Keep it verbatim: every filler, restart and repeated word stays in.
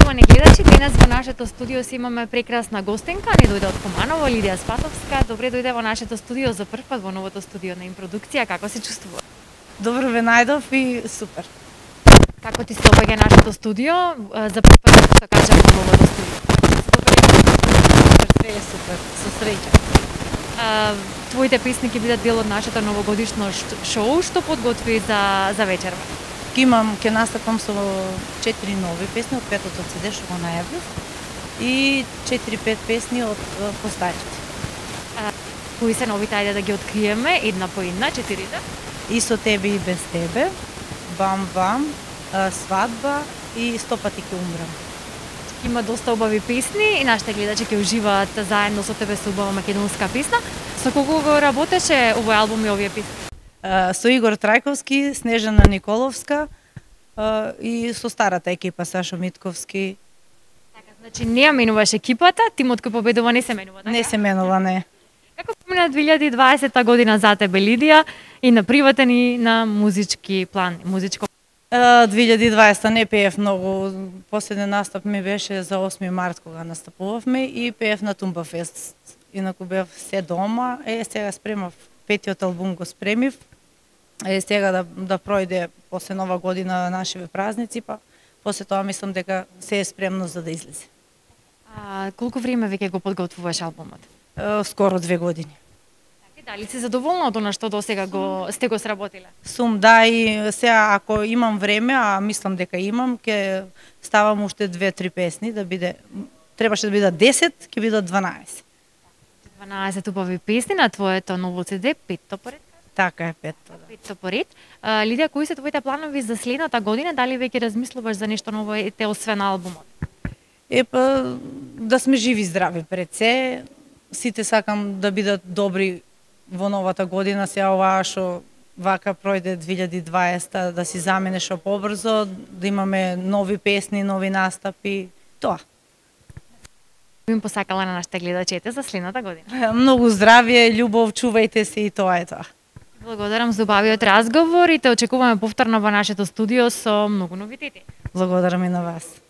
Почитувани гледачи, денес во нашето студио си имаме прекрасна гостинка, не дојде од Куманово, Лидија Спасовска. Добре дојде во нашето студио за прв пат во новото студио на Импродукција. Како се чувствува? Добро ве најдов и супер. Како ти се допаѓа нашето студио? За прв пат што кажам во новото студио. Све е супер, со среќа. А, твоите песни ќе бидат дел од нашето новогодишно шоу, што подготви за за вечерва. Ке имам, ке настапам со четири нови песни од петото си ди што го најавив и четири-пет песни од постарите. А, кои се новите, ајде да ги откриеме една по една, четирите? И со тебе и без тебе, Бам Бам, Свадба и Сто пати ќе умрам. Има доста убави песни и нашите гледачи ќе уживаат заедно со тебе со убава македонска песна. Со кого го работеше овој албум и овие песни? Со Игор Трајковски, Снежана Николовска и со старата екипа Сашо Митковски. Така, значи не ја менуваш екипата, тимот кој победува не се менува, така? Не се менува, не. Како помина две илјади и дваесета година за тебе, Лидија, и на приватен и на музички план, музичко? две илјади и дваесета не пеев многу. Последен настап ми беше за осми март кога настапувавме и пеев на Тумба Фест. Инаку бев се дома, е сега спремав петиот албум го спремив. Е сега да да пројде после нова година нашиве празници, па после тоа мислам дека се е спремно за да излезе. А колку време веќе го подготвуваш албумот? Е, скоро две години. Дали си задоволна од она што досега го сте го сработиле? Сум, да, и сега ако имам време, а мислам дека имам, ќе ставам уште две-три песни да биде, требаше да бидат десет, ќе бидат дванаесет. дванаесет убави песни на твоето ново си ди, петто поред? Така е, петто, да. Петто поред. Лидија, кои се твоите планови за следната година? Дали веќе размислуваш за нешто ново ете освен албумот? Епа, да сме живи и здрави пред се. Сите сакам да бидат добри во новата година, сега оваа што вака пројде две илјади и дваесета, да си замине што побрзо, да имаме нови песни, нови настапи, тоа. Им посакала на нашите гледачите за следната година. Многу здравје, љубов, чувајте се и тоа е тоа. Благодарам за убавиот разговор и те очекуваме повторно во нашето студио со многу новитети. Благодарам и на вас.